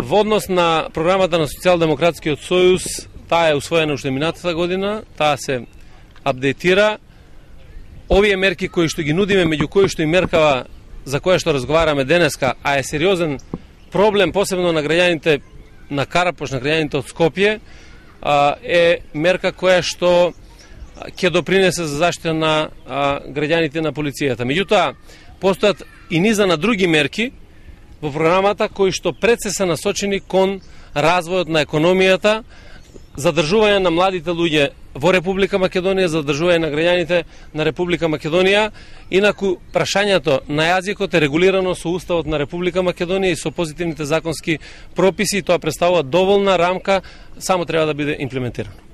Во однос на програмата на Социјалдемократскиот сојуз, таа е усвоена уште минатата година, таа се апдейтира. Овие мерки кои што ги нудиме, меѓу кои што и меркава за која што разговараме денеска, а е сериозен проблем, посебно на граѓаните на Карапош, на граѓаните од Скопје, е мерка која што ќе допринесе за заштита на граѓаните на полицијата. Меѓутоа, постојат и низа на други мерки во програмата кои што пред се насочени кон развојот на економијата, задржување на младите луѓе во Република Македонија, задржување на граѓаните на Република Македонија. Инаку, прашањето на јазикот е регулирано со Уставот на Република Македонија и со позитивните законски прописи, и тоа представува доволна рамка, само треба да биде имплементирано.